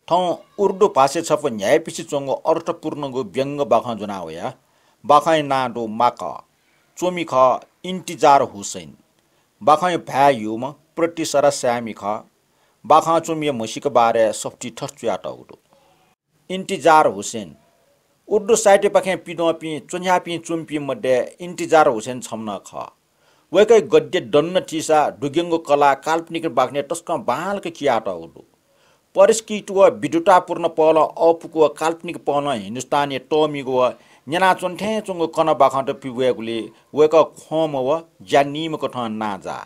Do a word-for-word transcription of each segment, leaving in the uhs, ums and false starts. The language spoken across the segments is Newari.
थौं उर्दू भाषाय् छपु न्ह्याइपिसे च्वंगु अर्थपूर्णगु व्यंग्य बाखं ज्वना वया। बाखंया नां दु माकः। च्वमि खः इन्तिजार हुसैन। बाखंया भाय् ह्यूम्ह प्रतिसरा साय्मि खः। बाखं च्वमिया म्हसीका बारे सफुतिइ थथे च्वयातःगु दु। इन्तिजार हुसैन उर्दू साहित्यपाखें पिद्वंपिं च्वन्ह्यापिं च्वमिपिं मध्ये इन्तिजार हुसैन छम्ह नं खः। वय्कःया गद्य दन नं थीसा दुग्यंगु कला काल्पनिक बाखनय् तसकं बांलाक कियातःगु दु। परिष्कृत व विद्वतापूर्ण पहलं अःपुक व काल्पनिक पहलं हिन्दुस्तानया तःमिगु व न्यनाच्वने थें च्वंगु कना बाखंत पिब्वयेगुलिइ वय्कः ख्वंम्ह व ज्या नीम्ह कथं नांजाः।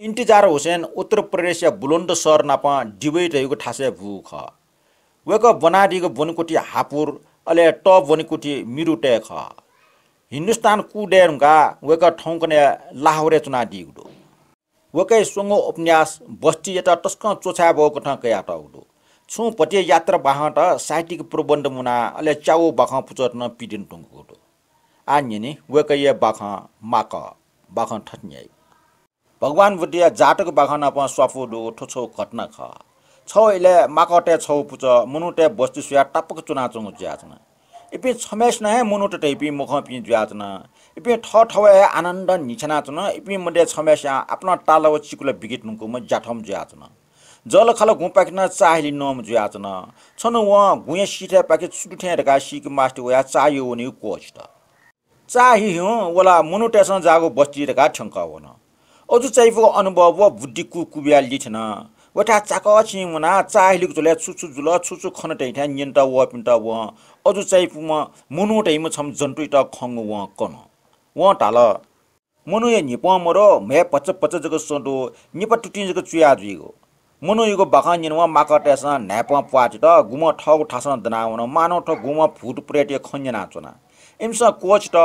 इन्तिजार हुसैन उत्तर प्रदेशया बुलन्दशहर नापं दिवै धइगु थासय् बूगु खः। वय्कः ब्वनादीगु ब्वनेकुथि हापुर, अले तःब्वनेकुथि मिरुतय् खः। हिन्दुस्तान कू दये धुंकाः वय्कः थौंकन्हय् लाहोरय् च्वनादीगु दु। वय्कःया स्वंगू उपन्यास बस्तीयात तसकं च्वछाये बहःगु कथं कयातःगु दु। छुं भतिया यात्रा बाखंत साहित्यिक प्रबन्ध मुनाः अले च्यागू बाखं पुचःत नं पिदने धुंकूगु दु। आः न्यने वय्कःया बाखं माकः। बाखं थथे न्ह्याइ। भगवान बुद्धया जातक बाखं नाप स्वापू दुगु थ्व छगू घटना खः। छगू इलय् माकःतय् छगू पुचः मनूतय् बस्ती स्वयाः तापाक च्वनाच्वंगु जुयाच्वन। इपिं छम्हय्सिनं हे मनूत धइपिं मखंपिं जुयाच्वन। इपिं थःथवय् हे आनन्द न्हिछ्यानाच्वन। इपिं मध्ये छम्हय्सियां आपालं ताल व चिकुला बिके धुंकूम्ह ज्याथम्ह जुयाच्वन। जःलाखःला गुंपाखें नं चाःहिलि नःम्ह जुयाच्वन। छन्हु वं गुँया सिथय्पाखे छु दु थें धकाः सीके मास्ति वयाः चाःह्यू वनेगु क्वःछित। चाःहिहुँ वलाः मनूतय्सं जाःगु बस्ती धकाः थ्यंकः वन। अजू चायापुगु अनुभव व बुद्धि कुकुबिया लिथ्यन। वय्थाय् चाकःछिं मुनाः चाःहिलिगु झ्वलय् छु छु जुल, छु छु खन धइथाय् न्यनेत वःपिन्त वं अजू चायापुम्ह मनू धइम्ह छम्ह जन्तुयात खंगु वं कन। वं धाल, मनूया न्हिपं मदु, म्हय् भचा भचा जक सँ दु, निपा तुतिं जक चुया जुइगु। मनूयागु बाखं न्यनावं माकःतय्सं न्हाय्पं प्वाः चित, गुम्हं थःगु थासं दनावन, मानव थ्व गुम्हं भूत प्रेतया खँ न्यनाच्वन। इमिसं क्वःछित,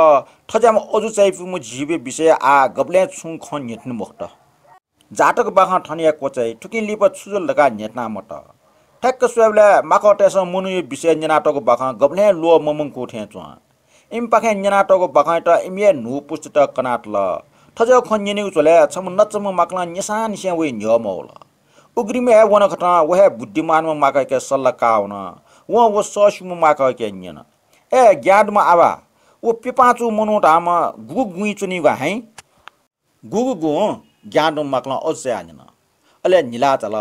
थज्याःम्ह अजू चायापुम्ह जीवया विषयय् आः गबलें छुं खँ न्ह्यथने मखुत। जातक बाखं थन हे क्वचाइ, थुकिं लिपा छु जुल धकाः न्ह्यथना मत। ठ्याक्क स्वयेबलय् माकःतय्सं मनूया विषयय् न्यनातःगु बाखं गबलें ल्वः ममंकू थें च्वं। इमिपाखें न्यनातःगु बाखंयात इमिया न्हू पुस्तात कनातल। थज्याःगु खँ न्यनेगु झ्वलय् छम्ह नचाम्ह माकलं निसांनिसें वइ न्ह्यः मवल। उघ्रिमय् हे वनकथं व हे बुद्धिमानम्ह माकःयाके सल्लाह काः वन। वं व सःस्यूम्ह माकःयाके न्यन, ए ज्ञां दुम्ह आबा, व प्यपांचू मनू धाःम्ह गुगु गुँइ च्वनीगु हँ? गुगु गुँ? ज्ञां दुम्ह माकलं अजू चायाः न्यन। अले न्हिलाः झाल,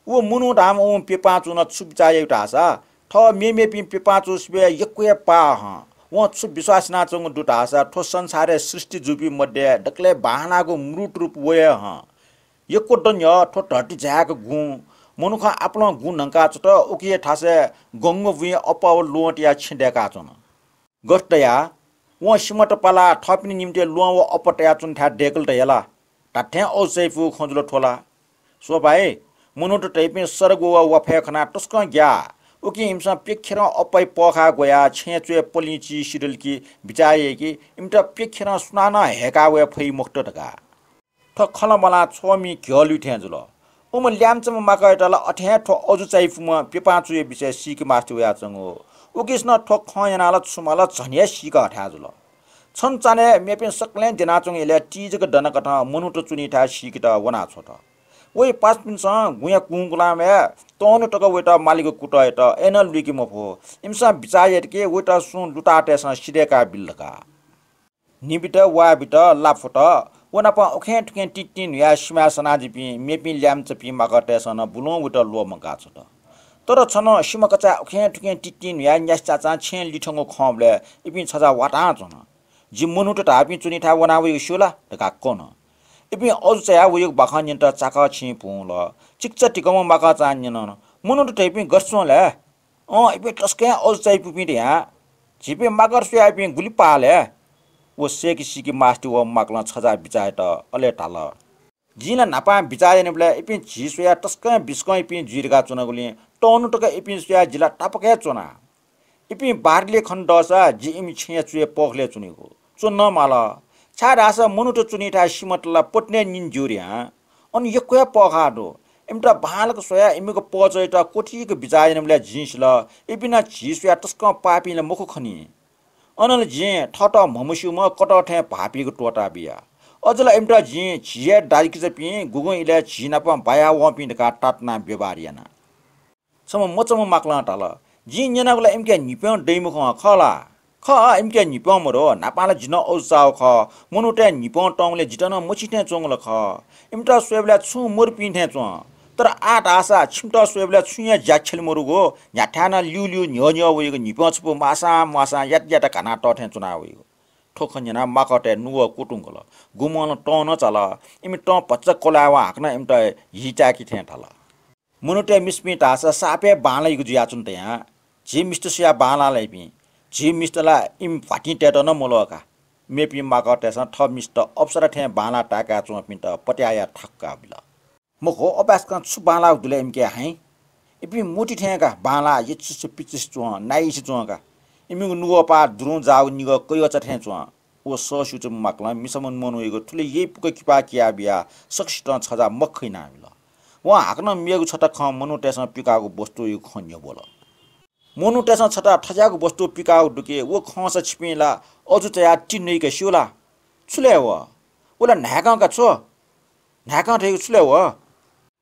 व मनू धाःम्ह व प्यपांचूं नं छु बिचाः याइ धाःसा, थः मेमेपिं प्यपांचूसिबय् यक्व हे पाः हँ। वं छु विश्वास यानाच्वंगु दु धाःसा, थ्व संसारय् सृष्टि जूपिं मध्ये दकलय् बांलाःगु मृत रूप व हे हँ। यक्व दँ न्ह्यः थ्व धरती झायेक गुँ, मनुखं आपालं गुँ न्हंकाच्वत, उकिया थासय् गंगु बुँइ अप्पा व ल्वहं तयाः छेँ दय्काच्वन। गथे धयाः वं सिमत पालाः थःपिनि निंतिं ल्वहं व अप्पा तयाच्वनेथाय् दय्कल धयाला? धात्थें अजू चायापुगु खँ जुल थ्व ला? स्वभाय्, मनूत धइपिं सरग व वाफय् खनाः तसकं ग्याः। उकिं इमिसं प्यखेरं अप्पाया पःखाः ग्वयाः छेँय् च्वय् पलिं चिः सिधल कि बिचाः याइ कि इमित प्यखेरं सुनानं हय्का वये फइ मखुत धकाः। थ्व खँ ला मलां छ्वःमि घ्यः लुइ थें जुल। उम्ह ल्याय्म्हचाम्ह माकःयात ला अथे हे थ्व अजू चायापुम्ह प्यपांचूया विषयय् सीके मास्ति वयाच्वंगु। उकिसनं थ्व खँ न्यनाः ला छु माल झन हे सीके हथाय् जुल। छन्हु चान्हय् मेपिं सकलें द्यनाच्वंगु इलय् ति जक दनाकथं मनूत च्वनीथाय् सीकेत वनाछ्वत। वया पासापिन्सं गुँया कुंगुलामय् तःन्हु तक वयात मालीगु कुतः यात, अय्नं लुइके मफु। इमिसं बिचाः यात कि वयात सुं लुतातय्सं सिधय्काः बिल धकाः। न्हिबित, वाःबित, लाफ्वत, व नाप उखें थुखें तिंतिं न्हुयाः सिमाय् सनाः जिपिं मेपिं ल्याय्म्हचापिं माकःतय्सं नं बुलुं वयात ल्वःमंकाछ्वत। तर छन्हु सिमा कचाय् उखें थुखें तिंतिं न्हुयाः न्यासि चाचां छेँ लिथ्यंगु खंबलय् इपिं छजा वातां च्वन। जि मनूत धाःपिं च्वनीथाय् वना वइगु स्यू ला धकाः कन। इपिं अजू चायाः वइगु बाखं न्यनेत चाकःछिं पुं वल। चिकिचा धिकःम्ह माकःचां न्यन, मनूत धइपिं गथे च्वं लय्? अँ, इपिं तसकं हे अजू चायापुपिं धयां। झीपिं माकःत स्वयाः इपिं गुलि पाः लय्? व सय्के सीके मास्ति वःम्ह माकलं छजा बिचाः यात, अले धाल, जिं ला न्हापां बिचाः यानाबलय् इपिं झी स्वयाः तसकं हे बिस्कं इपिं जुइ धकाः च्वनागुलिं तःन्हु तक इपिं स्वयाः जि ला तापाक हे च्वना। इपिं बारलिइ खने दःसा जि इमि छेँया च्वय् पःखलय् च्वनीगु। च्वने नं माल। छाय्धाःसा मनूत च्वनीथाय् सिमत ला पतिने निने ज्यू धयां। अन यक्व हे पःखाः दु। इमित बांलाक स्वयाः इमिगु पहःचायात क्वथिक बिचाः यानाबलय् जिं सिल, इपिं नं झी स्वयाः तसकं पापीं ला मखु खनी। अन ला जिं थःत म्हमस्यूम्ह कतः थें भाःपीक त्वःता बिया। अझ ला इमित जिं झी हे दाजुकिजापिं गुगुं इलय् झी नाप बाया वंपिं धकाः तातुनाः व्यवहार याना। छम्ह मचाम्ह माकलं धाल, जिं न्यनागु ला इमिके न्हिप्यं दइम्ह खँ खः ला? खः, इमिके न्हिप्यं मदु, न्हापां ला जि नं अजू चाःगु खः। मनूतय् न्हिप्यं तंगुलिं जितः नं मछिं थें च्वंगु ला खः। इमित स्वयेबलय् छुं मरुपिं थें च्वं। तर आः धाःसा छिमित स्वयेबलय् छुं हे ज्या ख्यले मरुगु, न्ह्याथाय् नं ल्यूल्यू न्ह्यः न्ह्यः वइगु न्हिप्यं छपु मासां म्वासां यात यात घानाः तः थें च्वना वइगु। थ्व खँ न्यनाः माकःतय् नुगः क्वतुंकल। गुम्हं नं तं नं चाल। इमि तं भचा क्वलाय्वं हाकनं इमित हीचाय्‌के थें धाल। मनूतय् मिसापिं धाःसा साप हे बांलाइगु जुयाच्वन तयां झी मिस्त सुयाः बांलाः ला इपिं? झी मिस्त ला इमि भ्वातिं तयेत नं मल्वः का। मेपिं माकःतय्‌सं थः मिस्त अप्सरा थें बांलाः ताय्‌का च्वंपिन्त पत्याः याः थाकुका बिल। मखु, अपाय्‌सकं छु बांलाःगु दु ले इमिके हाइँ? इपिं मूर्ति थें का, बांलाः यचिस पिचिस च्वं, नाइस च्वं का। इमिगु नुगः पाः दुरुं जाःगु निगः कय्‌चा थें च्वं। व सःस्यूच्वंम्ह माकलं मिसाम्ह मनूयागु थुलि यइपुक किपा किया बियाः सकसितं छजा मखु यानाबिल। वं हाकनं मेगु छता खँ मनूतय्‌सं पिकाःगु वस्तुयागु खँ न्ह्यब्वल। मनूतय्‌सं छता थज्याःगु वस्तु पिकाःगु दु कि, व खंसा छिपिं ला अजू चायाः ति नइ का, स्यू ला? छु ले व? व ला न्हाय्‌कं का छु? न्हाय्‌कं धइगु छु ले व?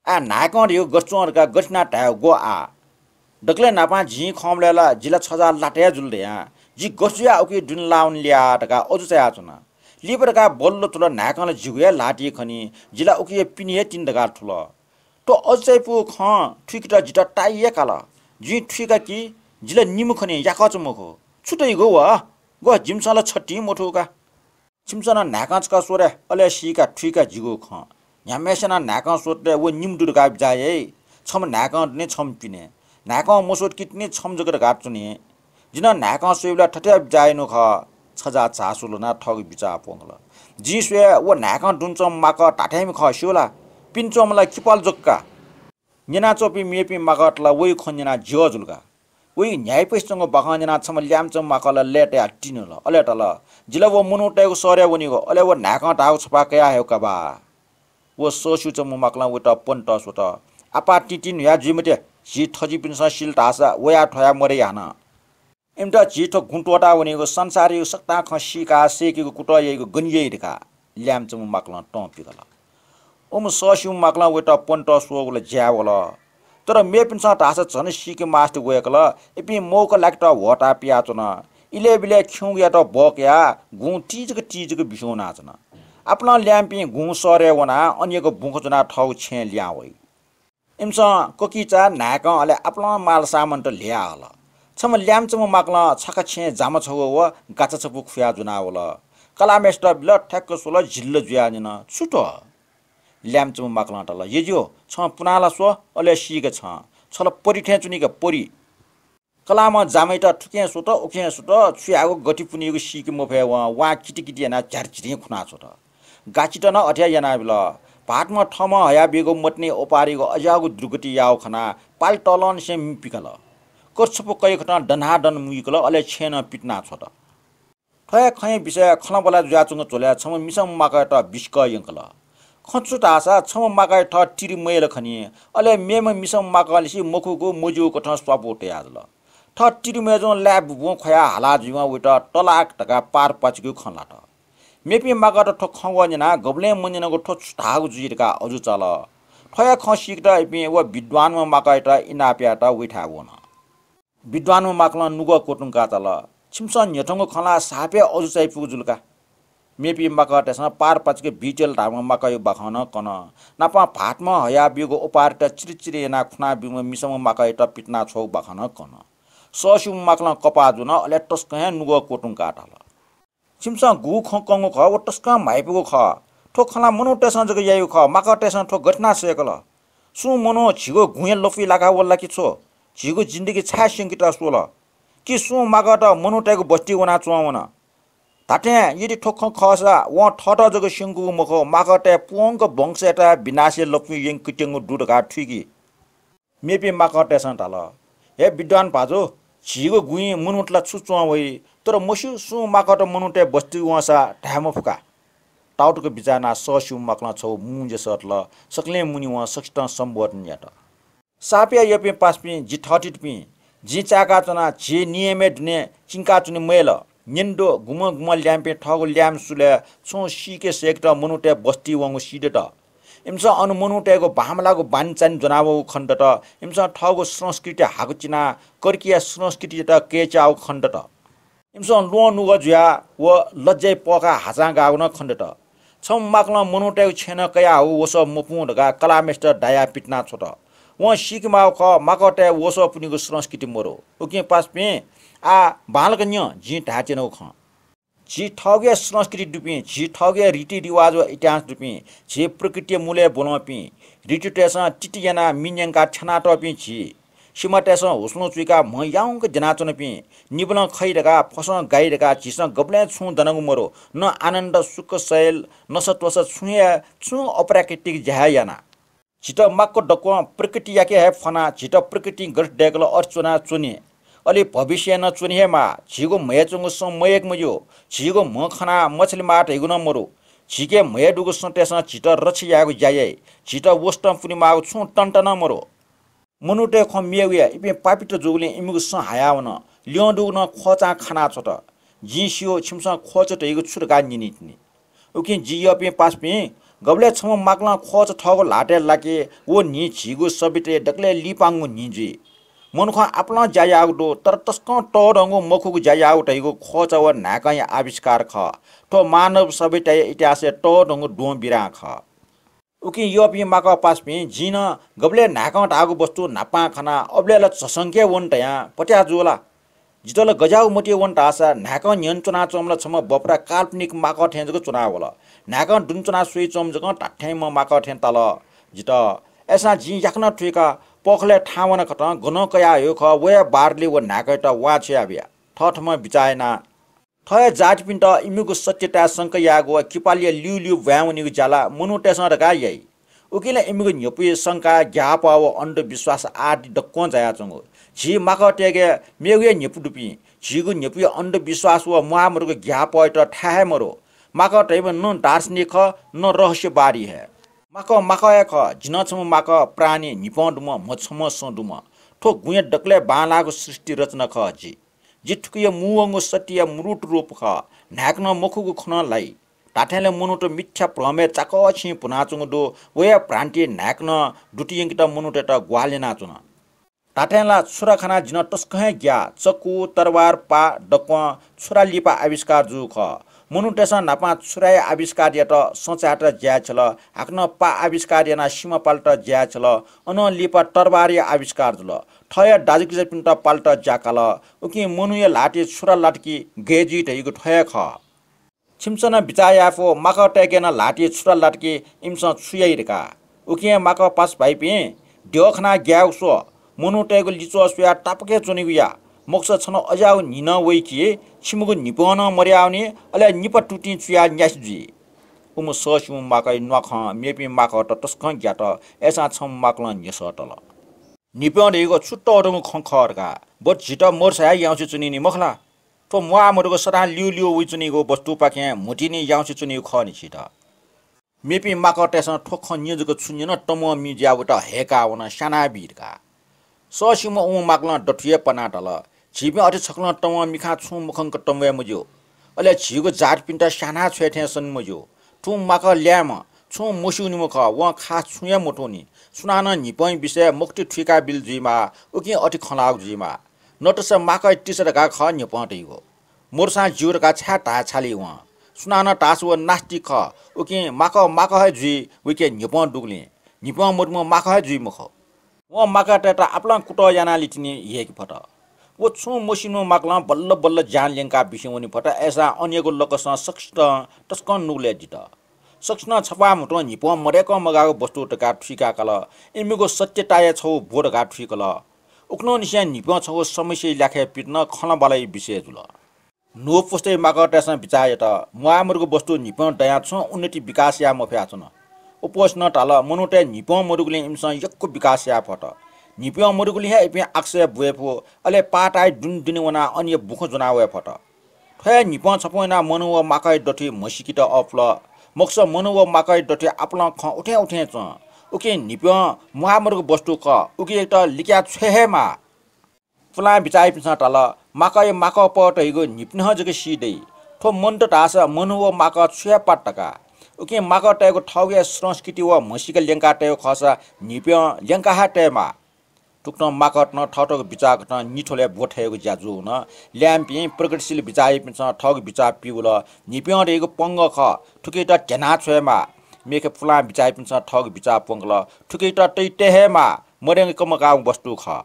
आः न्हाय्‌कं धइगु गथे च्वं धकाः गथे यानाः धायेगु ग्व आः? दकलय् न्हापां जिं खंबलय् ला जि ला छजा लात हे जुल धयां, जि गथे जुयाः उकिया दुने लाः वने ल्याः धकाः अजू चायाच्वना। लिपा धकाः बल्ल थुल, न्हाय्‌कं ला जिगु हे ल्हातिइ खनी, जि ला उकिया पिने हे तिनि धकाः थुल। थ्व अजू चायापुगु खँ थुइकेत जितः ताइ हे काल। जिं थुइका कि जि ला निम्ह खनी, याकःचा मखु। छु धइगु व? ग्व, जिमिसं ला छतिं मथू का। छिमिसं नं न्हाय्‌कं छकः स्वरे, अले सीका थुइका जिगु खँ। न्ह्याम्हय्‌सिनं न्हाय्‌कं स्वतले व निम्ह दु धकाः बिचाः याइ। छम्ह न्हाय्‌कं दुनि, छम्ह पिने। न्हाय्‌कं मस्वत कि तिनि छम्ह जक धकाः च्वनी। जि नं न्हाय्‌कं स्वइबलय् थथे बिचाः यानागु खः। छजा झासु ल्ह्वनाः थःगु बिचाः प्वंकल। जिं स्वये व न्हाय्‌कं दुने च्वंम्ह माकः धात्थेंम्ह खः, स्यू ला? पिने च्वंम्ह ला किपाल जक का। न्यनाच्वंपिं मेपिं माकःत ला वइगु खँ न्यनाः ज्यः जुल का। वइगु न्ह्याइपुसे च्वंगु बाखं न्यनाः छम्ह ल्याय्‌म्ह च्वंम्ह माकः ला लय्‌तायाः तिनि वल। अले धाल, जि ला व मनूतय्‌गु शहरय् वनीगु, अले व न्हाय्‌कं धाःगु छपाः कयाः हयेगु का बा। व सःस्यूच्वंम्ह माकलं वयात पनेत स्वत। आपाः तिंतिं न्हुया जुइ मते, झी थजिपिन्सं सिल धाःसा वयाः थ्वया मदइ हानं। इमित झी थ्व गुँ त्वःता वनीगु संसारयागु सकतां खँ सीकाः सय्‌केगु कुतः याइगु गन याइ धकाः ल्याय्‌म्ह च्वंम्ह माकलं तं पिकल। उम्ह सःस्यूम्ह माकलं वयात पनेत स्वःगु ला ज्याय् वल। तर मेपिन्सं धाःसा झन सीके मास्ति वय्‌कल, इपिं मौका लाकेत ह्वःताः पियाच्वन। इलय्‌बिलय् खिउँगुयात बः कयाः गुँ तीजक तीजक बिस्युं वनाच्वन। आपालं ल्याय्‌म्हपिं गुँ शहरय् वनाः अन यक्व बुँखँ ज्वनाः थःगु छेँय् लिहां वइ। इमिसं ककिचा, न्हाय्‌कं अले आपालं मालसामानत ल्ह्वया हल। छम्ह ल्याय्‌म्ह च्वंम्ह माकलं छखा छेँय् जामा छगू व गाचा छपु खुया ज्वनाः वल। कलाःम्हय्‌सित बिल, थ्याक्क स्वल, झिल्ल जुयाः न्यन, छु थ्व? ल्याय्‌म्ह च्वंम्ह माकलं धाल, यज्यू, छं पुनाः ला स्व, अले सीके छं। छ ला परी थें च्वनी का, परी। कलाःम्हं जामायात थुखें स्वत, उखें स्वत, छु यायेगु गति पुनीगु सीके मफयेवं वां कितिकिति यानाः झ्यारझिरिं खुना छ्वत। गाचित नं अथे हे यानाबिल। भाःतम्हं थःम्हं हयाबीगु मतिनि ओपारिगु अज्याःगु दुर्गति याःगु खनाः पाले तःलंनिसें मि पिकल। कथछपु कय्‌खतं दनादन मुइकल, अले छेँय् नं पितिना छ्वत। थ्व हे खँया विषयय् खँल्हाबल्हा जुयाच्वंगु झ्वलय् छम्ह मिसाम्ह माकःयात बिसिकः यंकल। खँ छु धाःसा छम्ह माकःया थः तिरि मयल खनी, अले मेम्ह मिसाम्ह माकंलिसे मखुगु मज्यूगु कथं स्वापू तयाजुल। थः तिरि मय्‌जुं लाय् बुबुं ख्वयाः हाला जुइवं वयात तलाक धकाः पारपाचिकया खँ ल्हात। मेपिं माकःयात थ्व खँग्वः न्यनाः गबलें मन्यनागु थ्व छु धाःगु जुइ धकाः अजू चाल। थ्व हे खँ सीकेत इपिं व विद्वानम्ह माकःयात इनाप यायेत वइथाय् वन। विद्वानम्ह माकलं नुगः क्वतुंकाः धाल, छिमिसं न्ह्यथंगु खँ ला साप हे अजू चायापुगु जुल का। मेपिं माकःतय्‌सं पारपाचिक बिटेल धाःम्ह माकःया बाखं नं कन। नापं भाःतम्हं हयाबीगु ओपारयात चिरचिर यानाः खुना ब्यूम्ह मिसाम्ह माकःयात पितिना छ्वःगु बाखं नं कन। सःस्यूम्ह माकलं कपाः ज्वन, अले तसकं हे नुगः क्वतुंकाः धाल, छिमिसं गुगु खँ कंगु खः, व तसकं म्हाइपुगु खः। थ्व खँ ला मनूतय्‌सं जक याइगु खः, माकःतय्‌सं थ्व गथे यानाः सय्‌कल? सुं मनू झीगु गुँया लँपुइ लाकाः वल ला कि छु? झीगु जिन्दगी छाय् स्यंकेत स्वल? कि सुं माकःत मनूतय्‌गु बस्तिइ वनाः च्वंवन? धात्थें यदि थ्व खँ खःसा वं थःत जक स्यंकूगु मखु, माकःतय् पूवंक वंशयात हे विनाशया लँपुइ यंकेत्यंगु दु धकाः थुइकी। मेपिं माकःतय्‌सं धाल, हे विद्वान भाजु, झीगु गुँइ मनूत ला छु च्वं वइ, तर मस्यू सुं माकःत मनूतय् बस्तिइ वंसा धाये मफु का। ताउतक बिचाः यानाः सःस्यूम्ह माकलं छगू मू ज्या सःतल। सकलें मुने वं सकसितं सम्बोधन यात। साप हे यःपिं पासापिं, जि थःथितिपिं, जिं चाय्‌काच्वना, झी नियमय् दुने चिंकाच्वने मयल। न्यने दु, गुम्हं गुम्हं ल्याय्‌म्हपिं थःगु ल्याय्‌म्ह सुलय् छुं सीके सय्‌केत मनूतय् बस्तिइ वंगु सीदत। इमिसं अन मनूतय्‌गु बांमलाःगु बानीचानी ज्वनावःगु खनेदत। इमिसं थःगु संस्कृति हाकु चिनाः कर्कीया संस्कृतियात कय्‌च्याःगु खनेदत। इमिसं ल्वहंनुगः जुयाः व लज्जाय् पःखाः हाचां गाःगु नं खनेदत। छम्ह माकलं मनूतय्‌गु छेँनं कयाहःगु वसः मपुं धकाः कलाःम्हय्‌सित दायाः पितिना छ्वत। वं सीकेमाःगु खः, माकःतय् वसः पुनीगु संस्कृति मदु। उकिं पासापिं, आः बांलाक न्यँ, जिं धायेत्यनागु खँ। झी थःगु हे संस्कृति दुपिं, झी थःगु हे रीतिरिवाज व इतिहास दुपिं, झी प्रकृतिया मूलय् ब्वलंपिं, ऋतुतय्‌सं तिति यानाः मि न्यंकाः थ्यनातःपिं झी, सिमातय्‌सं हुसुलुं चुइकाः म्ह याउँक द्यनाच्वनापिं, निबलं खइ धकाः फसं गाइ धकाः झीसं गबलें छुं दनागु मदु। न आनन्द, सुख, शैल, नसात्वसा छुं हे, छुं अप्राकृतिक ज्या हे याना। झीत माक्व दक्वं प्रकृतियाके हे फ्वनाः झीत प्रकृतिं गथे दय्‌कल अथे च्वनाः च्वने। अले भविष्यय् नं च्वने हे माः। झीगु म्हय् च्वंगु सँ मयय्‌के मज्यू। झीगु म्ह खनाः मछाले माः धइगु नं मदु। झीके म्हय् दुगु सतय्‌सं झीत रक्षा यायेगु ज्या याइ। झीत वसतं पुनेमाःगु छुं तन्त नं मदु। मनूतय् खँ मेगु याः, इपिं पापीत जूगुलिं इमिगु सँ हायावन। ल्यं दुगु नं ख्वःचां खाना छ्वत। जिं स्यू, छिमिसं ख्वःचा धइगु छु धकाः न्यनीतिनि। उकिं जि यःपिं पासापिं, गबलय् छम्ह माकलं ख्वःचा थःगु ल्हातय् लाके, व न्हि झीगु सभ्यताया दकलय् लिपांगु न्हि जुइ। मनुखं आपालं ज्या याःगु दु, तर तसकं तःधंगु मखुगु ज्या याःगु धइगु ख्वःचा व न्हाय्कंया आविष्कार खः। थ्व मानव सभ्यताया इतिहासय् तःधंगु द्वंबिरां खः। उकिं यःपिं माकः पासापिं, जिं नं गबलय् न्हाय्कं धाःगु वस्तु न्हापां खना, अबलय् ला झसंके वन धयां पत्याः जू ला? जितः ला गज्याःगु मतिइ वन धाःसा न्हाय्कं न्ह्यःने च्वनाच्वंम्ह ला छम्ह बपरा काल्पनिक माकः थें जक च्वनावल। न्हाय्कं दुने च्वनाः स्वयाच्वंम्ह जकं धात्थेंम्ह माकः थें ताल जितः। अय्‌सां जिं याकनं थुइकाः पःखालय् थाहां वनाकथं गनं कयाहयागु खः, व हे बारले व न्हाय्कयात वां छ्वयाबिया। थःथम्हं बिचाः यानाः थः हे जातिपिन्त इमिगु सत्यताय् शंका यायेगु व किपालया ल्यूल्यू ब्वाँय् वनीगु ज्या ला मनूतय्‌सं धकाः याइ। उकिं ला इमिगु न्ह्यपुइ शंका, ग्याःपः व अन्धविश्वास आदि दक्वं जायाच्वंगु। झी माकःतय्‌के मेगु हे न्ह्यपु दुपिं, झीगु न्ह्यपुइ अन्धविश्वास व म्वाःमदुगु ग्याःपःयात थाय् हे मदु। माकः धइम्ह न दार्शनिक खः, न रहस्यवादी हे। माकः माकः हे खः। जि नं छम्ह माकः, प्राणी, न्हिपं दुम्ह, म्ह छम्ह, सँ दुम्ह। थ्व गुँया दकलय् बांलाःगु सृष्टि रचना खः जि। जि थुकिया मूवंगु सत्यया मूर्त रूप खः। न्हाय्कनं मखुगु खँ नं ल्हाइ। धात्थें ला मनूत मिथ्या भ्रमय् चाकःछिं भुनाच्वंगु दु। व हे भ्रान्ति न्हाय्कनं दुत यंकेत मनूतय्‌त ग्वाहालि यानाच्वन। धात्थें ला छुरा खनाः जिं तसकं हे ग्याः। चक्कु, तरवार, पाः दक्वं छुरा लिपा आविष्कार जूगु खः। मनूतय्‌सं न्हापां छुराया आविष्कार यात, सँ चायेत ज्याय् छ्यल, हाकनं पाः आविष्कार यानाः सिमा पालेत ज्याय् छ्यल, अनं लिपा तरवारया आविष्कार जुल। थःया दाजुकिजापिन्त पालेत ज्या काल। उकिं मनूया ल्हातय् छुरा लात कि गय् जुइ धइगु थ्व हे खः। छिमिसं नं बिचाः याये फु, माकःतय्‌के नं ल्हातय् छुरा लात कि इमिसं छु याइ धकाः। उकिं हे माकः पासा भाइपिं, द्यः खनाः ग्यायेगु स्व, मनूतय्‌गु लिच्वः स्वयाः तापाक हे च्वनेगु या। मखुसा छन्हु अज्याःगु न्हि नं वइ कि छिमिगु न्हिपं नं मदयावनी, अले निपा तुतिं चुयाः न्यासि जुइ। उम्ह सःस्यूम्ह माकःया न्वाखं मेपिं माकःत तसकं ग्यात, अय्‌सां छम्ह माकलं न्ह्यसः तल। न्हिपं धइगु छु तःधंगु खँ खः धकाः? बरु झीत मदुसा हे याउँसे च्वनीनि मखु ला? थ्व म्वाःमदुगु सदां ल्यूल्यू वइच्वनीगु वस्तुपाखें म्हुतुनि याउँसे च्वनीगु खः नि झीत। मेपिं माकःतय्‌सं थ्व खँ न्यं जक छु न्यन, तमं मि जुयाः वयात हय्‌काः वन, स्यानाबी धकाः। सःस्यूम्ह उम्ह माकलं दथुइ हे पनाः धाल, झीपिं अथे छकलं तमं मिखां छुं मखंक तंवये मज्यू। अले झीगु जातपिन्त स्यानाः छ्वये थें सने मज्यू। थुं माकः ल्याय्म्ह, छुं मस्यूनिम्ह खः, वं खास छुं हे मथूनि। सुनानं न्हिपंया विषयय् मखुति थुइकाबिल जुइमाः, उकिं अथे खँ ल्हाःगु जुइमाः। नतस माकःया तिसा धकाः खः न्हिपं धइगु। मदुसां ज्यू धकाः छाय् धाये छाली वं? सुनानं धाःसा व नास्तिक खः, उकिं माकः माकः हे जुइ, वयाके न्हिपं दुगुलिं। न्हिपं मदुम्ह माकः हे जुइ मखु। वं माकःतय्‌त आपालं कुतः यानाः लितिनि यय्‌के फत। व छुं मस्यूम्ह माकलं बल्ल बल्ल ज्यान ल्यंकाः बिस्युं वने फत, अय्‌सां अनयागु लकसं सकसितं तसकं नुगलय् दित। सकसिनं छपाः म्हुतुं न्हिपं मदय्‌कं मगाःगु वस्तु धकाः थुइका काल। इमिगु सत्यताया छगू ब्व धकाः थुइकल। उखुन्हुनिसें न्हिपं छगू समस्याया ल्याखय् पित नं खँल्हाबल्हाया विषय जुल। न्हू पुस्ताया माकःतय्‌सं बिचाः यात, म्वाःमदुगु वस्तु न्हिपं दयां छुं उन्नति विकास याये मफयाच्वन। उपोसनं धाल, मनूतय् न्हिपं मदुगुलिं इमिसं यक्व विकास याये फत। न्हिपं मदुगुलिं हे इपिं आकाशय् ब्वये फु, अले पाताया दुने दुने वनाः अनया बुखँ ज्वना वये फत। थ्व हे न्हिपं छपुं यानाः मनू व माकःया दथुइ म्हसीकेत अःपुल। मखुसा मनू व माकःया दथुइ आपालं खँ उथें उथें च्वं। उकिं न्हिपं म्वाःमदुगु वस्तु खः, उकियात लिकयाः छ्वये हे माः। पुलां बिचाःयापिन्सं धाल, माकःया माकःपः धइगु न्हिपिन्हं जक सी दइ। थ्व मन्त धाःसा मनू व माकः छु हे पात धकाः। उकिं माकःतय्‌गु थःगु हे संस्कृति व म्हसीका ल्यंका तयेगु खःसा न्हिप्यं ल्यंका हे तयेमाः। थुकथं माकःतं थःथःगु बिचाः कथं निथ्वलय् ब्वथयेगु ज्या जूवन। ल्याय्‌म्हपिं प्रगतिशील बिचाःयापिन्सं थःगु बिचाः पिउल, न्हिप्यं धइगु पंगः खः, थुकियात ध्यनाछ्वयेमाः। मेखे पुलां बिचाःयापिन्सं थःगु बिचाः प्वंकल, थुकियात तइ तये हे माः, मदयंक कमकाःगु वस्तु खः।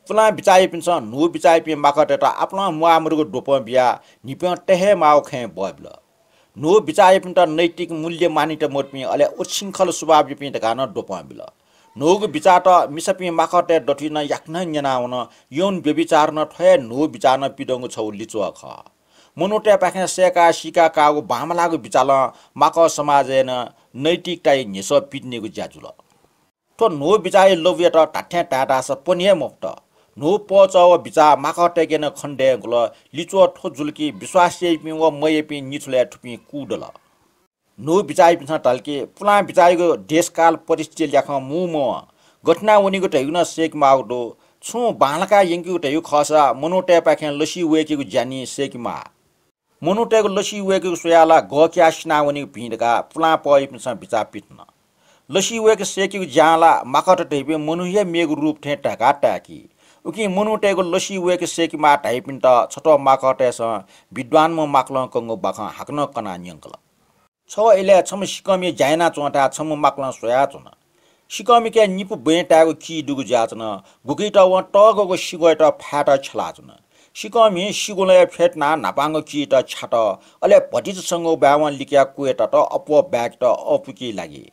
पुलां बिचाःयापिन्सं न्हू बिचाःयापिं माकःतय्‌त आपालं म्वाःमदुगु द्वपं बियाः न्हिप्यं तये हे माःगु खँय् बःबिल। न्हू बिचाःयापिन्त नैतिक मूल्य मान्यता मदुपिं अले उच्छृङ्खल स्वभावयापिं धकाः नं द्वपं बिल। न्हूगु बिचाःत मिसापिं माकःतय् दथुइ नं याकनं न्यनावन। यौन व्यभिचार नं थ्व हे न्हू बिचाः नं पिदंगु छगू लिच्वः खः। मनूतय्‌पाखें सय्‌काः सीका काःगु बांमलाःगु बिचालं माकः समाजय् नं नैतिकताया न्ह्यसः पितिनेगु ज्या जुल। थ्व न्हू बिचाःया लँपुयात धात्थें धाये धाःसा पने हे मफुत। न्हू पहःचः व बिचाः माकःतय्‌के नं खने दयेगु ल। लिच्वः थ्व जुल कि विश्वास याइपिं व मयाइपिं निथ्वलय् थुपिं कूदल। न्हू बिचाःयापिन्सं धाल कि पुलां बिचाःयागु देशकाल परिस्थिति ल्याखं मू मवं। गथे याना वनीगु धइगु नं सय्‌के माःगु दु। छुं बांलाकाः यंकेगु धइगु खःसा मनूतय्‌पाखें लसी वय्‌केगु ज्या नि सय्‌के माः। मनूतय्‌गु लसी वय्‌केगु स्वयाः ला गःकियाः सिनावनीगु भिं धकाः पुलां पहःयापिन्सं बिचाः पिथन। लसी वय्‌के सय्‌केगु ज्यां ला माकःत धइपिं मनू हे मेगु रूप थें धकाः ताय्‌की। उकिं मनूतय्‌गु लसी वय्‌के सय्‌के माः धाइपिन्त छत्वः माकःतय्‌सं विद्वानम्ह माकलं कंगु बाखं हाकनं कनाः न्यंकल। छगः इलय् छम्ह सिकःमि ज्या यानाच्वंथाय् छम्ह माकलं स्वयाच्वन। सिकःमिके निपु बँय् तायेगु की दुगु जुयाच्वन। गुकित वं तःगःगु सिग्वःयात फायेत छ्यलाच्वन। सिकःमि सिग्वलय् फ्यतुनाः न्हापांगु कीत छ्यात। अले भतिचा संगु बाय्‌वं लिकयाः क्वय् तत, अप्वः बाय्‌केत अःपुकी लागी।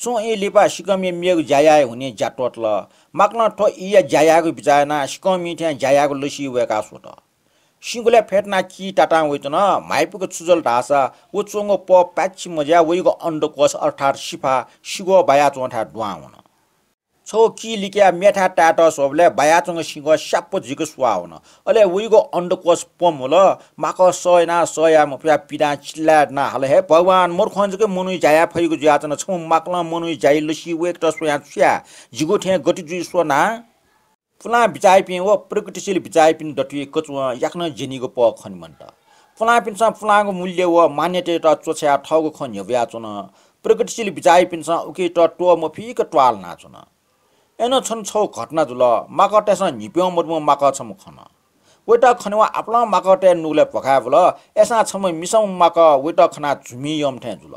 छुं ई लिपा सिकःमिया मेगु ज्या याये हुनिं ज्या त्वःतल। माकलं थ्व ईया ज्या यायेगु बिचाः यानाः सिकःमिं थें ज्या यायेगु लसी वय्‌काः स्वत। सिग्वलय् फ्यतुनाः की तातां वइच्वन। म्हाइपुक छु जुल धाःसा व च्वंगु पः पाय्‌छि मज्याः वइगु अंडकोष अर्थात् सिफा सिग्वः बायाच्वंथाय् दुहां वन। छगू की लिकयाः मेथाय् तायेत स्वःबलय् बायाच्वंगु सिग्वः स्याप्प जुइक स्वाः वन। अले वइगु अंडकोष प्वंम्हुल। माकः सह यानाः सह याये मफयाः पिदां चिल्लाय् दनाः हाल, हे भगवान, मरुखं जक मनूया ज्या याये फइगु जुयाच्वन। छम्ह माकलं मनूया ज्याया लसी वय्‌केत स्वयां छु याये? जिगु थें गति जुइ स्व ना। पुलां बिचाःयापिं व प्रगतिशील बिचाःयापिं दथुइ कचुवं याकनं ज्यनीगु पः खने मन्त। पुलांपिन्सं पुलांगु मूल्य व मान्यतायात च्वछायाः थःगु खँ न्ह्यब्वयाच्वन। प्रगतिशील बिचाःयापिन्सं उकित त्वःमफीक त्वाःल्हानाच्वन। अय्‌नं छन्हु छगू घटना जुल। माकःतय्‌सं न्हिप्यं मदुम्ह माकः छम्ह खन। वयात खनेवं आपालं माकःतय् नुगलय् भ्वखाय् वल। अय्‌सां छम्ह मिसाम्ह माकः वयात खनाः झुमि यःम्ह थें जुल।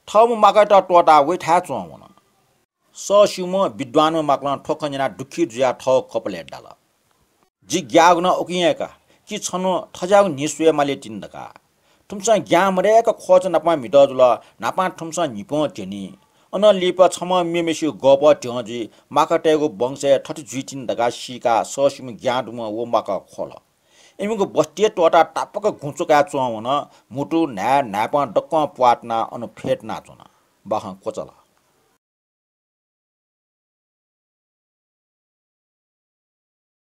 थःम्ह माकःयात त्वःताः वयाथाय् च्वं वन। सः स्यूम्ह विद्वानम्ह माकलं थ्व खँ न्यनाः दुःखी जुयाः थःगु कपालय् दाल, जि ग्याःगु नं उकिं हे का, कि छन्हु थज्याःगु न्हि स्वये माली तिनि धकाः। थुमिसं ज्ञां मदय्‌क ख्वःचा नापं म्हितः जुल, न्हापां थुमिसं न्हिप्यं ध्यनी। अनं लिपा छम्हं मेम्हेसिगु गःपः ध्यं जुइ, माकःतय्‌गु वंशय् थथे जुइ तिनि धकाः सीकाः सः स्यूम्ह ज्ञां दुम्ह व माकः ख्वल। इमिगु बस्ती हे त्वःताः तापाक गुँ च्वकाय् च्वं वन। म्हुतु, न्हाय्, न्हाय्‌पं दक्वं प्वाः तनाः अन फ्यतुनाच्वन। बाखं क्वचाल।